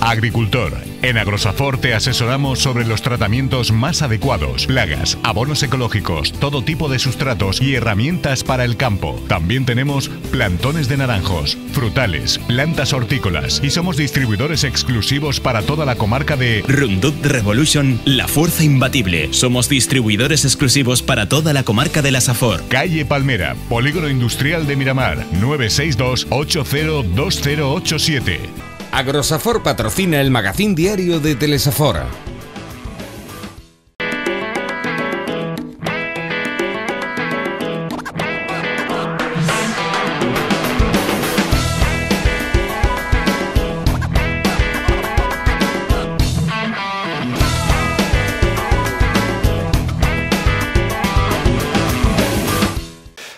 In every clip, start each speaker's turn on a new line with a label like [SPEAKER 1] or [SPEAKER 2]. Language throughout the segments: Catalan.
[SPEAKER 1] Agricultor. En Agrosafor te asesoramos sobre los tratamientos más adecuados, plagas, abonos ecológicos, todo tipo de sustratos y herramientas para el campo. También tenemos plantones de naranjos, frutales, plantas hortícolas y somos distribuidores exclusivos para toda la comarca de
[SPEAKER 2] Roundup Revolution, la fuerza imbatible. Somos distribuidores exclusivos para toda la comarca de la Safor.
[SPEAKER 1] Calle Palmera, Polígono Industrial de Miramar, 962 802087.
[SPEAKER 3] Agrosafor patrocina el magazín diario de Telesafor.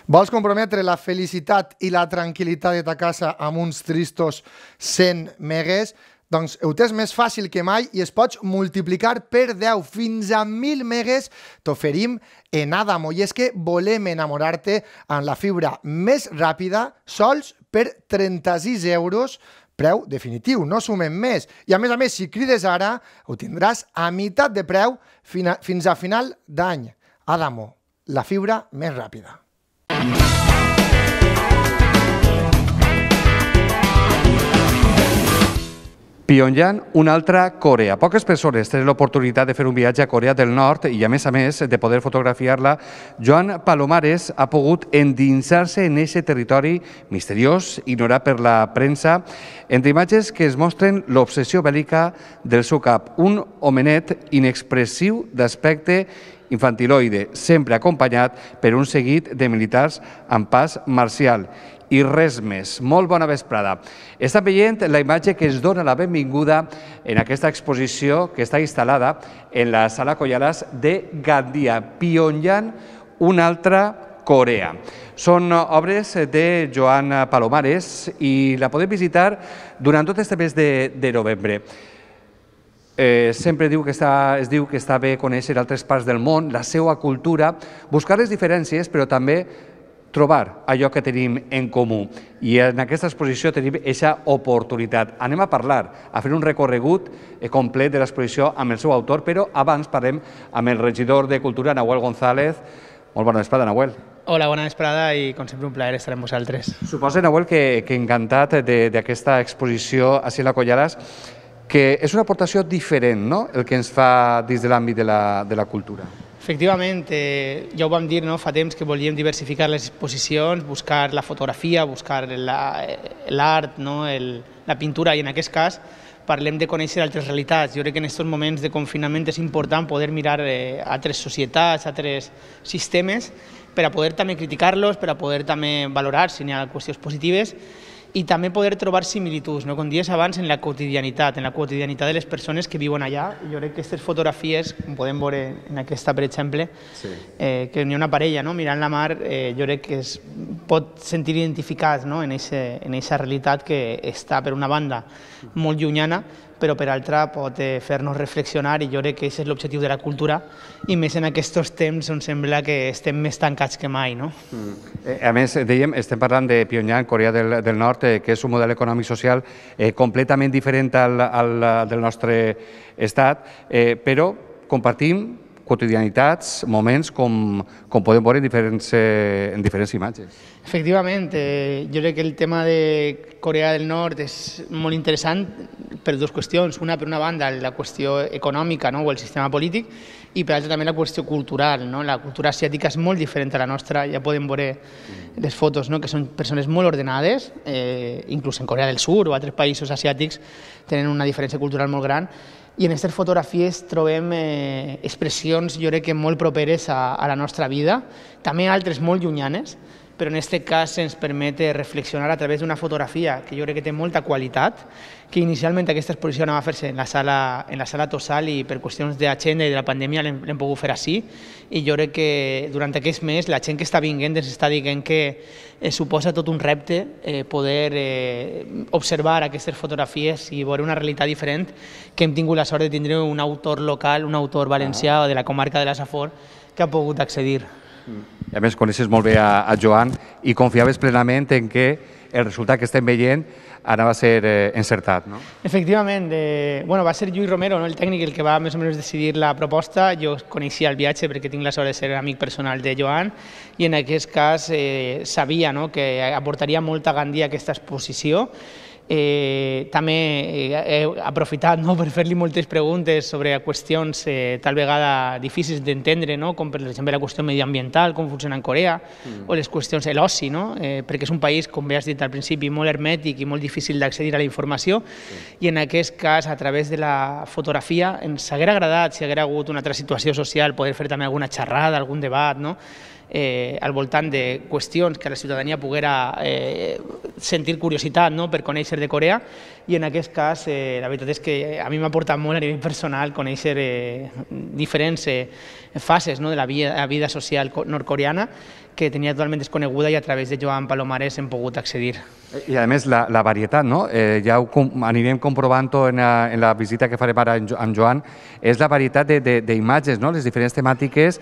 [SPEAKER 4] Vols comprometre la felicitat i la tranquil·litat de ta casa amb uns tristos 100 megues? Doncs ho tens més fàcil que mai i es pots multiplicar per 10 fins a 1.000 megues t'oferim en Adamo. I és que volem enamorar-te amb la fibra més ràpida sols per 36 euros, preu definitiu, no sumem més. I a més, si crides ara, ho tindràs a meitat de preu fins a final d'any. Adamo, la fibra més ràpida.
[SPEAKER 5] Pyongyang, una altra Corea. Poques persones tenen l'oportunitat de fer un viatge a Corea del Nord i, a més, de poder fotografiar-la. Joan Palomares ha pogut endinsar-se en aquest territori misteriós, ignorat per la premsa, entre imatges que es mostren l'obsessió bèl·lica del seu cap. Un homenet inexpressiu d'aspecte infantiloide, sempre acompanyat per un seguit de militars amb pas marcial. I res més. Molt bona vesprada. Estan veient la imatge que es dona la benvinguda en aquesta exposició que està instal·lada en la Sala Koyalas de Gandia, Pyongyang, una altra Corea. Són obres de Joan Palomares i la podem visitar durant tot este mes de novembre. Sempre es diu que està bé conèixer altres parts del món, la seva cultura, buscar les diferències, però també trobar allò que tenim en comú. I en aquesta exposició tenim aquesta oportunitat. Anem a parlar, a fer un recorregut complet de l'exposició amb el seu autor, però abans parlem amb el regidor de Cultura, Nahuel González. Molt bona vesprada, Nahuel.
[SPEAKER 6] Hola, bona vesprada i com sempre un plaer estar amb vosaltres.
[SPEAKER 5] Suposo, Nahuel, que encantat d'aquesta exposició a la Koyalas, que és una aportació diferent, no?, el que ens fa dins de l'àmbit de la cultura.
[SPEAKER 6] Efectivament, ja ho vam dir, fa temps que volíem diversificar les exposicions, buscar la fotografia, buscar l'art, la pintura, i en aquest cas parlem de conèixer altres realitats. Jo crec que en aquests moments de confinament és important poder mirar altres societats, altres sistemes, per a poder també criticar-los, per a poder també valorar si n'hi ha qüestions positives, i també poder trobar similituds, com dies abans, en la quotidianitat de les persones que viuen allà. Jo crec que aquestes fotografies, com podem veure en aquesta, per exemple, que n'hi ha una parella mirant la mar, jo crec que es pot sentir identificats en aquesta realitat que està, per una banda, molt llunyana, però per altra pot fer-nos reflexionar, i jo crec que aquest és l'objectiu de la cultura, i més en aquests temps on sembla que estem més tancats que mai.
[SPEAKER 5] A més, dèiem, estem parlant de Pyongyang, Corea del Nord, que és un model econòmic social completament diferent al del nostre estat, però compartim quotidianitats, moments, com podem veure en diferents imatges.
[SPEAKER 6] Efectivament, jo crec que el tema de Corea del Nord és molt interessant per dues qüestions. Una, per una banda, la qüestió econòmica o el sistema polític, i per altra també la qüestió cultural. La cultura asiàtica és molt diferent a la nostra, ja podem veure les fotos, que són persones molt ordenades, inclús en Corea del Sur o altres països asiàtics tenen una diferència cultural molt gran, i en aquestes fotografies trobem expressions, jo crec que molt properes a la nostra vida, també altres molt llunyanes, però en aquest cas ens permet reflexionar a través d'una fotografia que jo crec que té molta qualitat, que inicialment aquesta exposició anava a fer-se en la sala Tossal, i per qüestions d'agenda i de la pandèmia l'hem pogut fer així, i jo crec que durant aquest mes la gent que està vinguent ens està dient que suposa tot un repte poder observar aquestes fotografies i veure una realitat diferent, que hem tingut la sort de tindre un autor local, un autor valencià de la comarca de la Safor, que ha pogut accedir.
[SPEAKER 5] I a més, coneixes molt bé a Joan i confiaves plenament en que el resultat que estem veient anava a ser encertat, no?
[SPEAKER 6] Efectivament. Va ser Lluís Romero, el tècnic, el que va més o menys decidir la proposta. Jo coneixia el viatge perquè tinc la sort de ser amic personal de Joan i en aquest cas sabia que aportaria molta gandia a aquesta exposició. També he aprofitat per fer-li moltes preguntes sobre qüestions tal vegada difícils d'entendre, com per exemple la qüestió mediambiental, com funciona en Corea, o les qüestions de l'oci, perquè és un país, com bé has dit al principi, molt hermètic i molt difícil d'accedir a la informació, i en aquest cas, a través de la fotografia, ens haguera agradat, si haguera hagut una altra situació social, poder fer també alguna xerrada, algun debat, al voltant de qüestions que la ciutadania poguera sentir curiositat per conèixer de Corea, i en aquest cas la veritat és que a mi m'ha aportat molt a nivell personal conèixer diferents fases de la vida social nord-coreana que tenia totalment desconeguda i a través de Joan Palomares hem pogut accedir.
[SPEAKER 5] I a més la varietat, ja ho anirem comprovant-ho en la visita que farem ara amb Joan, és la varietat d'imatges, les diferents temàtiques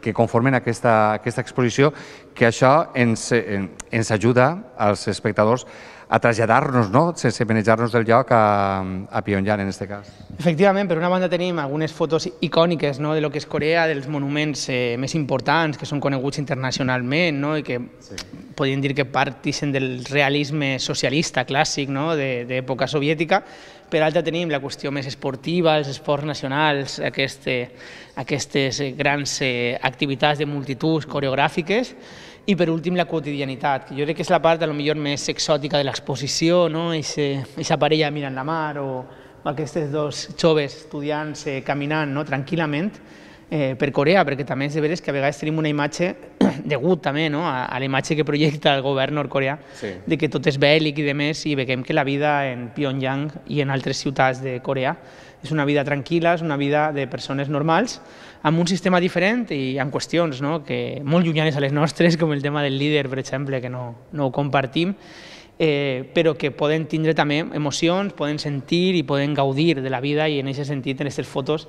[SPEAKER 5] que conformen aquesta exposició, que això ens ajuda als espectadors a traslladar-nos, sense manejar-nos del lloc, a Pyongyang, en aquest cas.
[SPEAKER 6] Efectivament, per una banda tenim algunes fotos icòniques de lo que és Corea, dels monuments més importants, que són coneguts internacionalment, i que podríem dir que partixen del realisme socialista clàssic d'època soviètica. Per altra tenim la qüestió més esportiva, els esports nacionals, aquestes grans activitats de multituds coreogràfiques, i per últim la quotidianitat, que jo crec que és la part potser més exòtica de l'exposició, aquesta parella mirant la mar o aquests dos joves estudiants caminant tranquil·lament per Corea, perquè també és de veres que a vegades tenim una imatge, degut també a la imatge que projecta el govern nord-coreà, de que tot és bèl·lic i demés, i veiem que la vida en Pyongyang i en altres ciutats de Corea és una vida tranquil·la, és una vida de persones normals, amb un sistema diferent i amb qüestions molt llunyanes a les nostres, com el tema del líder, per exemple, que no ho compartim, però que poden tindre també emocions, poden sentir i poden gaudir de la vida, i en aquest sentit, en aquestes fotos,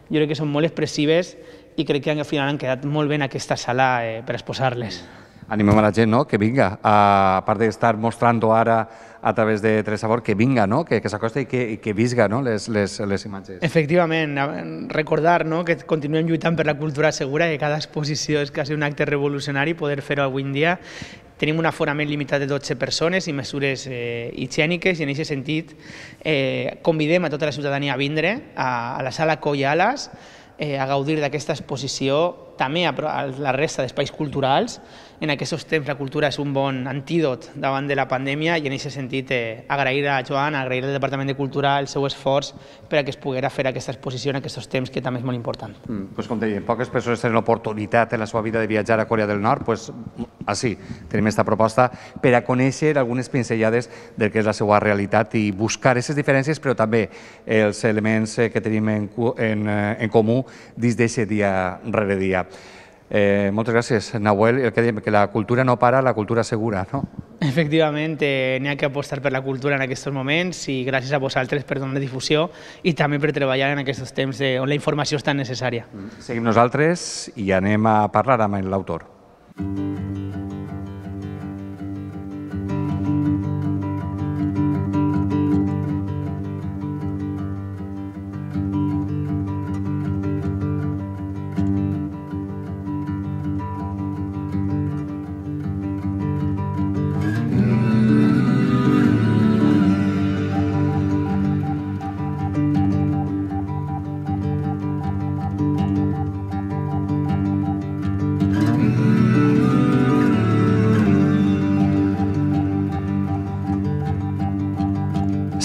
[SPEAKER 6] jo crec que són molt expressives i crec que al final han quedat molt bé en aquesta sala per exposar-les.
[SPEAKER 5] Animem a la gent que vinga, a part d'estar mostrant-ho ara a través de Telesabor, que vinga, que s'acosta i que visga les imatges.
[SPEAKER 6] Efectivament, recordar que continuem lluitant per la cultura segura, que cada exposició és quasi un acte revolucionari, poder fer-ho avui en dia. Tenim un aforament limitat de 12 persones i mesures higièniques, i en aquest sentit convidem a tota la ciutadania a vindre a la sala Coll i Ales, a gaudir d'aquesta exposició, també a la resta d'espais culturals. En aquests temps la cultura és un bon antídot davant de la pandèmia, i en aquest sentit agrair a Joan, agrair al Departament de Cultura el seu esforç per a que es poguera fer aquesta exposició en aquests temps, que també és molt important.
[SPEAKER 5] Com dèiem, poques persones tenen l'oportunitat en la seva vida de viatjar a Corea del Nord, així tenim aquesta proposta per a conèixer algunes pinzellades del que és la seva realitat i buscar aquestes diferències, però també els elements que tenim en comú dins d'aquest dia rere dia. Moltes gràcies, Nahuel. El que diem, que la cultura no para, la cultura segura, no?
[SPEAKER 6] Efectivament, n'hi ha que apostar per la cultura en aquests moments, i gràcies a vosaltres per donar difusió i també per treballar en aquests temps on la informació és tan necessària.
[SPEAKER 5] Seguim nosaltres i anem a parlar amb l'autor.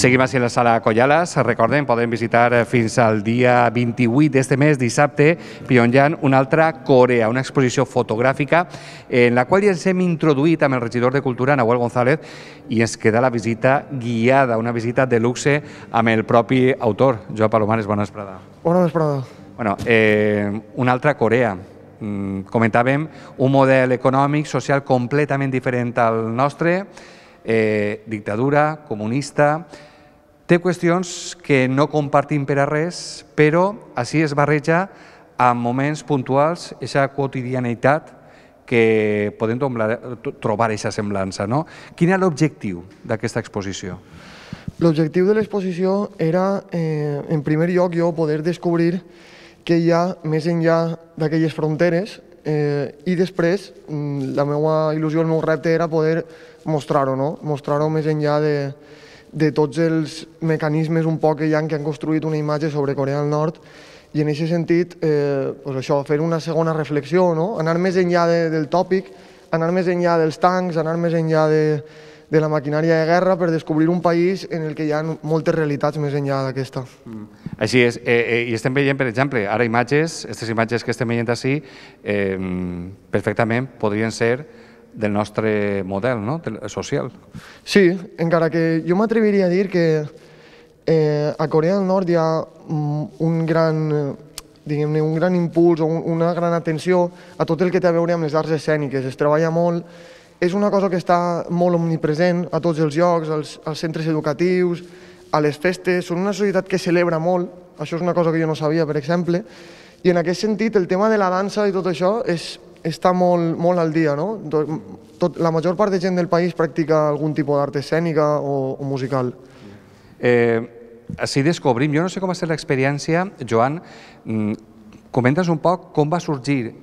[SPEAKER 5] Seguim així a la sala Coll i Ales. Recordem, podem visitar fins al dia 28 d'este mes, dissabte, Pyongyang, una altra Corea, una exposició fotogràfica en la qual ja ens hem introduït amb el regidor de Cultura, Nahuel González, i ens queda la visita guiada, una visita de luxe amb el propi autor, Joan Palomares. Bona vesprada.
[SPEAKER 4] Bona vesprada.
[SPEAKER 5] Una altra Corea. Comentàvem un model econòmic, social completament diferent al nostre, dictadura, comunista. Té qüestions que no compartim per a res, però així es barreja en moments puntuals, aquesta quotidianitat que podem trobar aquesta semblança, no? Quin era l'objectiu d'aquesta exposició?
[SPEAKER 7] L'objectiu de l'exposició era, en primer lloc, jo poder descobrir què hi ha més enllà d'aquelles fronteres i després la meva il·lusió, el meu repte era poder mostrar-ho, no? Mostrar-ho més enllà de tots els mecanismes un poc que hi ha que han construït una imatge sobre Corea del Nord i en aquest sentit fer una segona reflexió, no? Anar més enllà del tòpic, anar més enllà dels tancs, anar més enllà de la maquinària de guerra per descobrir un país en el que hi ha moltes realitats més enllà d'aquesta.
[SPEAKER 5] Així és, i estem veient, per exemple, ara imatges, aquestes imatges que estem veient així, perfectament podrien ser del nostre model social.
[SPEAKER 7] Sí, encara que jo m'atreviria a dir que a Corea del Nord hi ha un gran impuls o una gran atenció a tot el que té a veure amb les arts escèniques. Es treballa molt, és una cosa que està molt omnipresent a tots els llocs, als centres educatius, a les festes. Són una societat que celebra molt, això és una cosa que jo no sabia, per exemple, i en aquest sentit el tema de la dansa i tot això està molt al dia, no? La major part de gent del país practica algun tipus d'art escènica o musical.
[SPEAKER 5] Així descobrim, jo no sé com va ser l'experiència, Joan, comentes un poc com va sorgir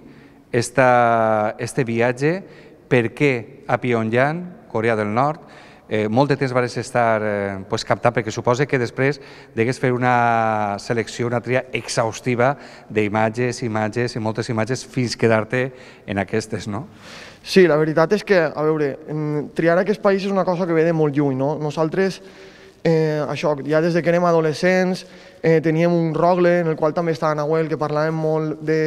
[SPEAKER 5] este viatge, per què a Pyongyang, Corea del Nord, molt de temps vas estar captat, perquè suposa que després degués fer una selecció, una tria exhaustiva d'imatges, imatges i moltes imatges fins quedar-te en aquestes, no?
[SPEAKER 7] Sí, la veritat és que, a veure, triar aquest país és una cosa que ve de molt lluny, no? Nosaltres, això, ja des que érem adolescents, teníem un rogle en el qual també estava Nahuel, que parlàvem molt de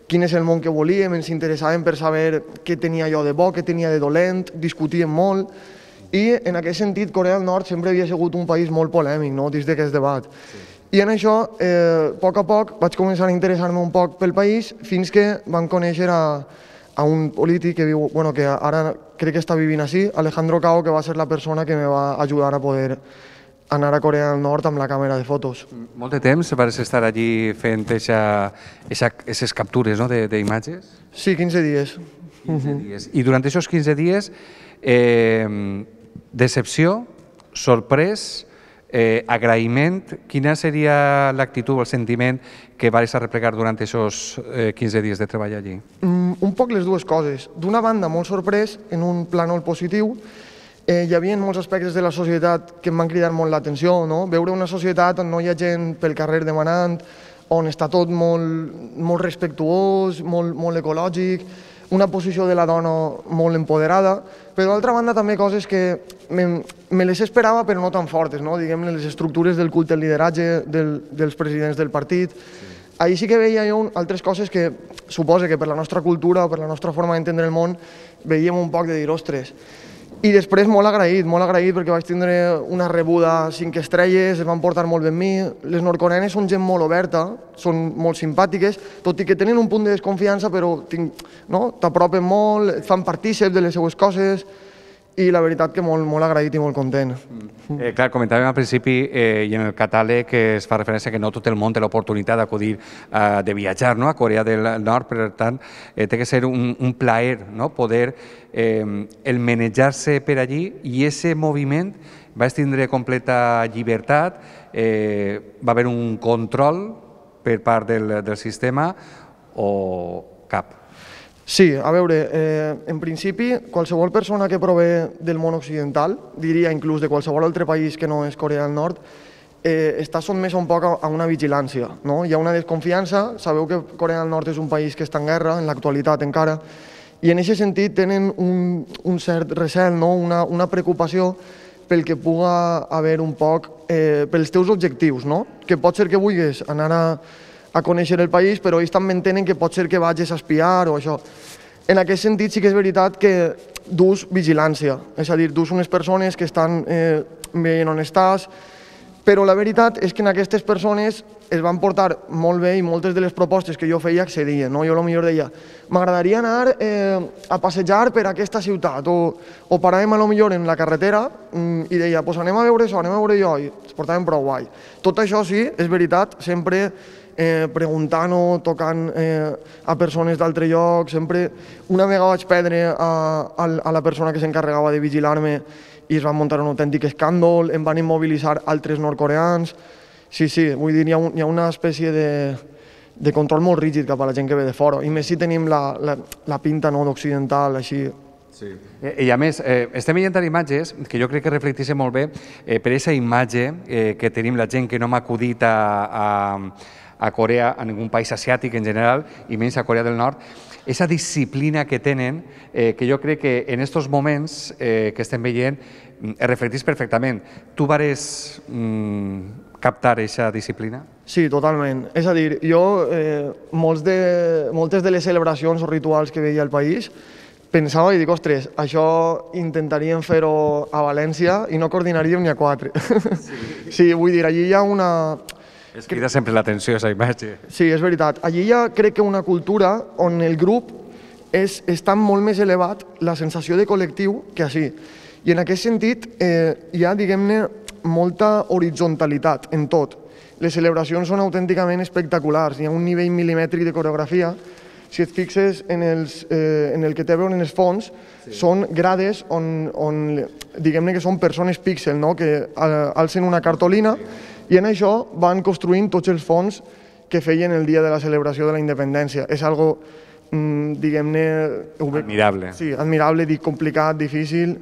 [SPEAKER 7] quin és el món que volíem, ens interessàvem per saber què tenia jo de bo, què tenia de dolent, discutíem molt, i en aquest sentit Corea del Nord sempre havia sigut un país molt polèmic, no?, dins d'aquest debat. I en això, a poc vaig començar a interessar-me un poc pel país fins que vam conèixer a un polític que viu, que ara crec que està vivint així, Alejandro Cao, que va ser la persona que me va ajudar a poder anar a Corea del Nord amb la càmera de fotos.
[SPEAKER 5] Molt de temps vas estar allí fent aquestes captures d'imatges?
[SPEAKER 7] Sí, 15 dies.
[SPEAKER 5] 15 dies. I durant aquests 15 dies, decepció, sorprès, agraïment, quina seria l'actitud o el sentiment que vas arreplegar durant aquests 15 dies de treball allí?
[SPEAKER 7] Un poc les dues coses. D'una banda, molt sorprès, en un plànol positiu. Hi havia molts aspectes de la societat que em van cridar molt l'atenció, no? Veure una societat on no hi ha gent pel carrer demanant, on està tot molt respectuós, molt ecològic, una posició de la dona molt empoderada, però d'altra banda també coses que me les esperava però no tan fortes, no? Diguem-ne, les estructures del culte, el lideratge dels presidents del partit. Ahir sí que veia jo altres coses que suposo que per la nostra cultura o per la nostra forma d'entendre el món veiem un poc de dir, ostres. I després molt agraït perquè vaig tindre una rebuda 5 estrelles, es van portar molt bé amb mi. Les nord-coreanes són gent molt oberta, són molt simpàtiques, tot i que tenen un punt de desconfiança, però t'apropen molt, et fan partícip de les seues coses, i la veritat que molt agraït i molt content.
[SPEAKER 5] Clar, comentàvem al principi i en el catàleg que es fa referència que no tot el món té l'oportunitat d'acudir, de viatjar a Corea del Nord, per tant, té que ser un plaer poder el manejar-se per allí, i aquest moviment va tindre completa llibertat, va haver un control per part del sistema o cap?
[SPEAKER 7] Sí, a veure, en principi, qualsevol persona que prové del món occidental, diria inclús de qualsevol altre país que no és Corea del Nord, està sotmès un poc a una vigilància, no? Hi ha una desconfiança, sabeu que Corea del Nord és un país que està en guerra, en l'actualitat encara, i en aquest sentit tenen un cert recel, una preocupació pel que puga haver un poc, pels teus objectius, no? Que pot ser que vulguis anar a conèixer el país, però ells també entenen que pot ser que vagis a espiar o això. En aquest sentit sí que és veritat que dus vigilància, és a dir, dus unes persones que estan veient on estàs, però la veritat és que en aquestes persones es van portar molt bé i moltes de les propostes que jo feia accedien. Jo potser deia, m'agradaria anar a passejar per aquesta ciutat, o paràvem potser en la carretera i deia, doncs anem a veure això, anem a veure allò, i es portaven prou guai. Tot això sí, és veritat, sempre preguntant o tocant a persones d'altre lloc. Sempre, una vegada vaig perdre a la persona que s'encarregava de vigilar-me i es va muntar un autèntic escàndol, em van immobilitzar altres nord-coreans. Sí, vull dir, hi ha una espècie de control molt rígid cap a la gent que ve de fora, i més si tenim la pinta d'occidental, així.
[SPEAKER 5] Sí. I a més, estem veient imatges que jo crec que reflecteixen molt bé per aquesta imatge que tenim la gent que no m'ha acudit a Corea, a ningú país asiàtic en general, i menys a Corea del Nord, aquesta disciplina que tenen, que jo crec que en aquests moments que estem veient es reflecteix perfectament. Tu vares captar aquesta disciplina?
[SPEAKER 7] Sí, totalment. És a dir, jo moltes de les celebracions o rituals que veia al país pensava i dic, ostres, això intentaríem fer-ho a València i no coordinaríem ni a 4. Sí, vull dir, allí hi ha una...
[SPEAKER 5] Es crida sempre l'atenció, aquesta imatge.
[SPEAKER 7] Sí, és veritat. Allí hi ha, crec que, una cultura on el grup està molt més elevat, la sensació de col·lectiu, que així. I en aquest sentit hi ha, diguem-ne, molta horitzontalitat en tot. Les celebracions són autènticament espectaculars. Hi ha un nivell milimètric de coreografia. Si et fixes en el que té a veure en els fons, són grades on diguem-ne que són persones píxel, que alcen una cartolina i en això van construint tots els fons que feien el dia de la celebració de la independència. És algo, diguem-ne...
[SPEAKER 5] Admirable.
[SPEAKER 7] Sí, admirable, complicat, difícil...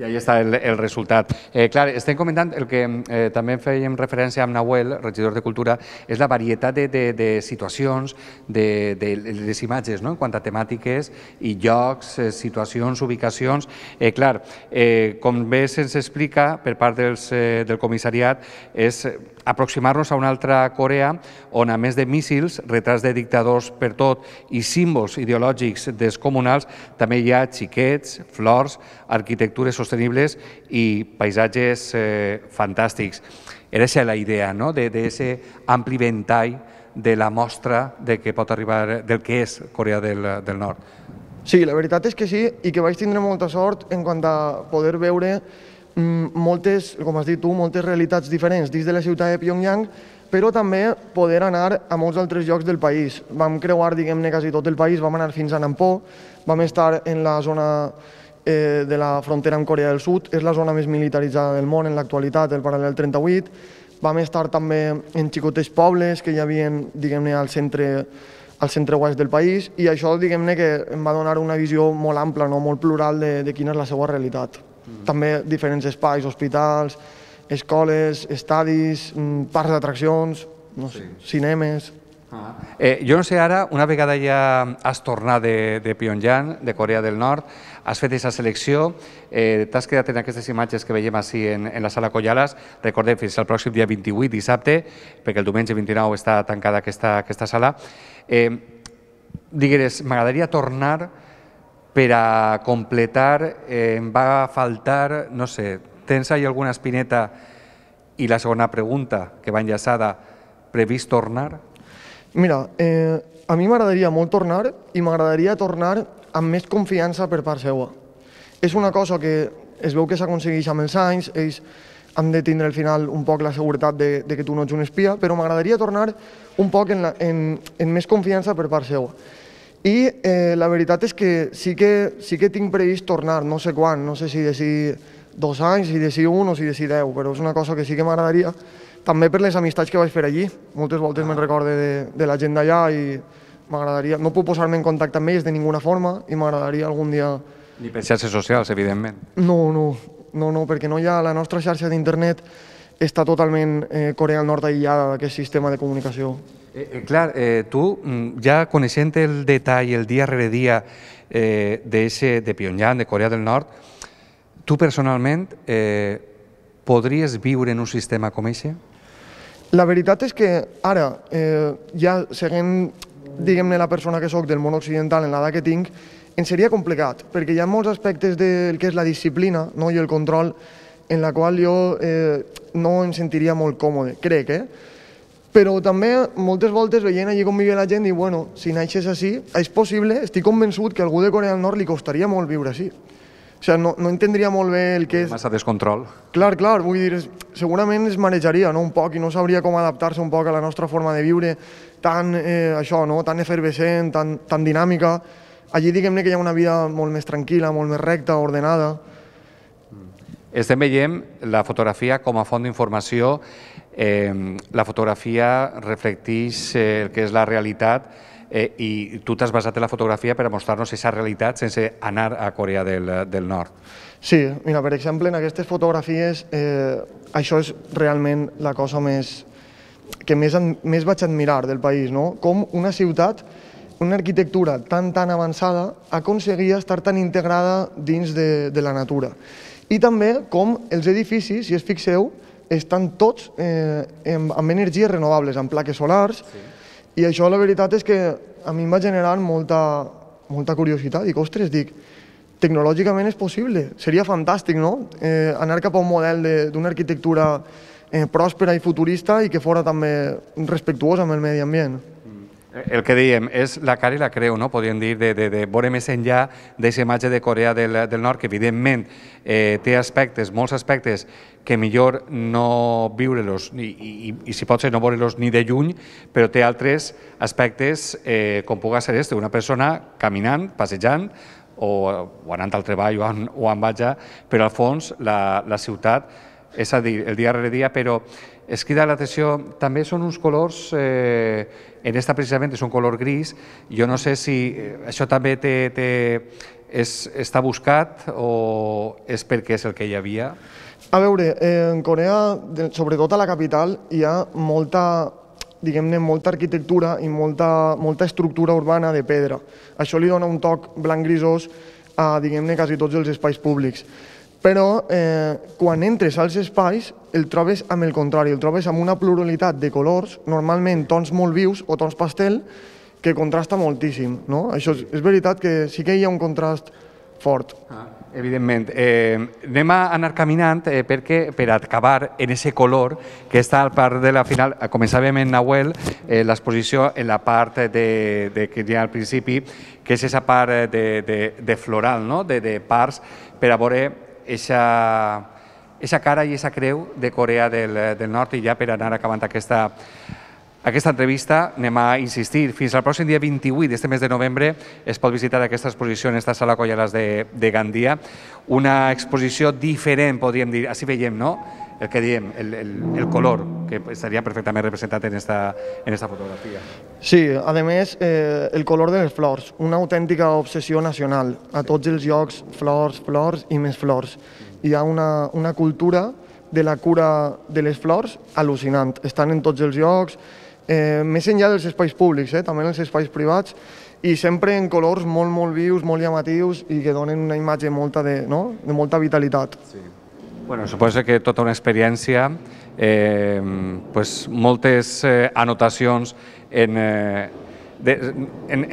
[SPEAKER 5] I ahí està el resultat. Clar, estem comentant el que també fèiem referència amb Nahuel, regidor de Cultura, és la varietat de situacions, de les imatges, en quant a temàtiques i llocs, situacions, ubicacions. Clar, com bé se'ns explica per part del comissariat, és aproximar-nos a una altra Corea on, a més de míssils, retrats de dictadors per tot i símbols ideològics descomunals, també hi ha xiquets, flors, arquitectures sostenibles i paisatges fantàstics. Era aquesta la idea, d'aquest ampli ventall de la mostra del que pot arribar, del que és Corea del Nord.
[SPEAKER 7] Sí, la veritat és que sí, i que vaig tindre molta sort en quant a poder veure moltes, com has dit tu, moltes realitats diferents dins de la ciutat de Pyongyang, però també poder anar a molts altres llocs del país. Vam creuar, diguem-ne, quasi tot el país, vam anar fins a Nampo, vam estar en la zona de la frontera amb Corea del Sud, és la zona més militaritzada del món en l'actualitat, el paral·lel 38, vam estar també en xicotets pobles que hi havia, diguem-ne, al centre oest del país, i això, diguem-ne, que em va donar una visió molt ampla, molt plural de quina és la seva realitat. També diferents espais, hospitals, escoles, estadis, parcs d'atraccions, cinemes...
[SPEAKER 5] Jo no sé ara, una vegada ja has tornat de Pyongyang, de Corea del Nord, has fet aquesta selecció, t'has quedat en aquestes imatges que veiem així en la sala Collalas, recordem, fins al pròxim dia 28, dissabte, perquè el diumenge 29 està tancada aquesta sala. Digueres, m'agradaria tornar per a completar, em va faltar, no sé, tens ahí alguna espineta? I la segona pregunta, que va enllaçada, previst tornar?
[SPEAKER 7] Mira, a mi m'agradaria molt tornar i m'agradaria tornar amb més confiança per part seva. És una cosa que es veu que s'aconsegueix amb els anys, ells han de tindre al final un poc la seguretat de que tu no ets un espia, però m'agradaria tornar un poc en més confiança per part seva. I la veritat és que sí que tinc previst tornar, no sé quan, no sé si d'ací 2 anys, si d'ací 1 o si d'ací 10, però és una cosa que sí que m'agradaria, també per les amistats que vaig fer allí. Moltes voltes me'n recorde de la gent d'allà i m'agradaria, no puc posar-me en contacte amb ells de ninguna forma i m'agradaria algun dia...
[SPEAKER 5] Ni per xarxes socials, evidentment.
[SPEAKER 7] No, perquè no hi ha... La nostra xarxa d'internet està totalment Corea del Nord aïllada d'aquest sistema de comunicació.
[SPEAKER 5] Clar, tu, ja coneixent el detall, el dia rere dia de Pyongyang, de Corea del Nord, tu personalment podries viure en un sistema com aquest?
[SPEAKER 7] La veritat és que ara, ja seguint, diguem-ne, la persona que soc del món occidental en l'edat que tinc, em seria complicat, perquè hi ha molts aspectes del que és la disciplina i el control en la qual jo no em sentiria molt còmode, crec, Però també moltes voltes veient allí com vivia la gent i bueno, si naixes així, és possible, estic convençut que a algú de Corea del Nord li costaria molt viure així. O sigui, no entendria molt bé el que és...
[SPEAKER 5] Massa descontrol.
[SPEAKER 7] Clar, vull dir, segurament es marejaria, no?, un poc, i no sabria com adaptar-se un poc a la nostra forma de viure, tan, això, no?, tan efervescent, tan dinàmica. Allí, diguem-ne que hi ha una vida molt més tranquil·la, molt més recta, ordenada.
[SPEAKER 5] Estem veient la fotografia com a font d'informació. La fotografia reflecteix el que és la realitat i tu t'has basat en la fotografia per a mostrar-nos aquesta realitat sense anar a Corea del Nord.
[SPEAKER 7] Sí, mira, per exemple, en aquestes fotografies això és realment la cosa que més vaig admirar del país, no? Com una ciutat, una arquitectura tan avançada aconseguia estar tan integrada dins de la natura. I també com els edificis, si es fixeu, estan tots amb energies renovables, amb plaques solars, i això la veritat és que a mi em va generar molta curiositat. Dic, ostres, tecnològicament és possible, seria fantàstic, no?, anar cap a un model d'una arquitectura pròspera i futurista i que fora també respectuosa amb el medi ambient.
[SPEAKER 5] El que dèiem és la cara i la creu, no? Podríem dir, de veure més enllà d'aquesta imatge de Corea del Nord, que evidentment té aspectes, molts aspectes, que millor no viure-los i si pot ser no veure-los ni de lluny, però té altres aspectes com pugui ser una persona caminant, passejant, o anant al treball o en vaja, però al fons la ciutat, és a dir, el dia rere dia, però es crida l'atenció, també són uns colors, en esta precisament és un color gris, jo no sé si això també està buscat o és perquè és el que hi havia?
[SPEAKER 7] A veure, en Corea, sobretot a la capital, hi ha molta arquitectura i molta estructura urbana de pedra. Això li dona un toc blanc-grisós a, diguem-ne, quasi tots els espais públics. Però quan entres als espais el trobes amb el contrari, el trobes amb una pluralitat de colors, normalment tons molt vius o tons pastel, que contrasta moltíssim, no? Això és veritat que sí que hi ha un contrast fort.
[SPEAKER 5] Evidentment. Anem a anar caminant perquè per acabar en aquest color que està al part de la final, començàvem en Nahuel, l'exposició en la part que hi ha al principi, que és aquesta part de floral, de parts, per a veure aquesta cara i aquesta creu de Corea del Nord. I ja per anar acabant aquesta entrevista anem a insistir. Fins al pròxim dia 28 d'este mes de novembre es pot visitar aquesta exposició en esta sala Collalas de Gandia. Una exposició diferent, podríem dir. Així veiem, no?, el que diem, el color, que estaria perfectament representat en esta fotografia.
[SPEAKER 7] Sí, a més, el color de les flors, una autèntica obsessió nacional. A tots els llocs, flors, flors i més flors. Hi ha una cultura de la cura de les flors al·lucinant. Estan en tots els llocs, més enllà dels espais públics, també en els espais privats, i sempre en colors molt vius, molt llamatius i que donen una imatge de molta vitalitat.
[SPEAKER 5] Bueno, suposo que tota una experiència, moltes anotacions en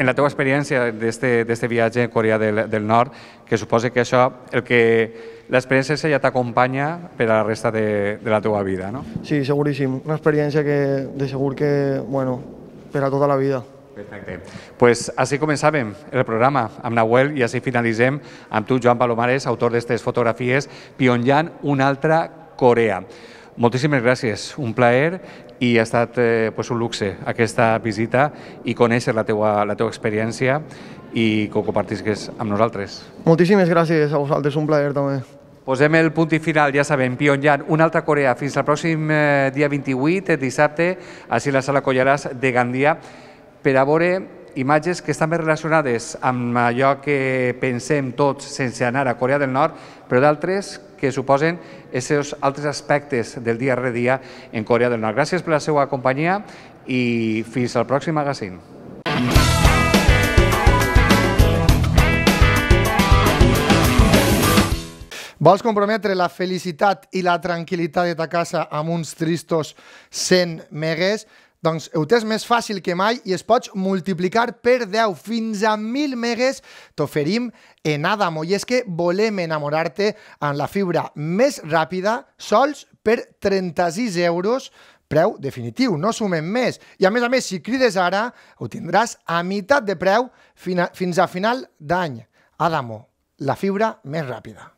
[SPEAKER 5] la teva experiència d'este viatge a Corea del Nord, que suposo que això, l'experiència ja t'acompanya per a la resta de la teva vida, no?
[SPEAKER 7] Sí, seguríssim. Una experiència que de segur que, per a tota la vida.
[SPEAKER 5] Perfecte. Doncs així començàvem el programa amb Nahuel i així finalitzem amb tu, Joan Palomares, autor d'aquestes fotografies, Pyongyang, una altra Corea. Moltíssimes gràcies, un plaer i ha estat un luxe aquesta visita i conèixer la teva experiència i que ho compartisques amb nosaltres.
[SPEAKER 7] Moltíssimes gràcies a vosaltres, un plaer també.
[SPEAKER 5] Posem el punt i final, ja sabem, Pyongyang, una altra Corea. Fins al pròxim dia 28, dissabte, així a la sala Collalas de Gandia, per a veure imatges que estan més relacionades amb allò que pensem tots sense anar a Corea del Nord, però d'altres que suposen aquests altres aspectes del dia rere dia en Corea del Nord. Gràcies per la seva companyia i fins al pròxim magazine.
[SPEAKER 4] Vols comprometre la felicitat i la tranquil·litat de ta casa amb uns tristos 100 megues? Doncs ho tens més fàcil que mai i es pots multiplicar per 10 fins a 1.000 megues t'oferim en Adamo. I és que volem enamorar-te amb la fibra més ràpida sols per 36 euros, preu definitiu, no sumem més. I a més, si crides ara, ho tindràs a meitat de preu fins a final d'any. Adamo, la fibra més ràpida.